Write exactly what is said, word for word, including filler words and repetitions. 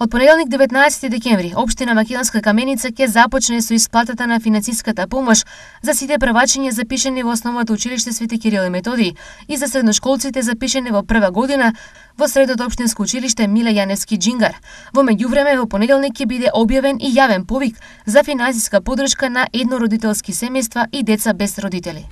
Од понеделник деветнаесети декември, општина Македонска Каменица ќе започне со исплатата на финансиската помош за сите првачиња запишани во основното училиште Свети Кирил и Методиј и за средношколците запишани во прва година во средното општинско училиште Миле Јаневски Џингар. Во меѓувреме, во понеделник ќе биде објавен и јавен повик за финансиска поддршка на еднородителски семејства и деца без родители.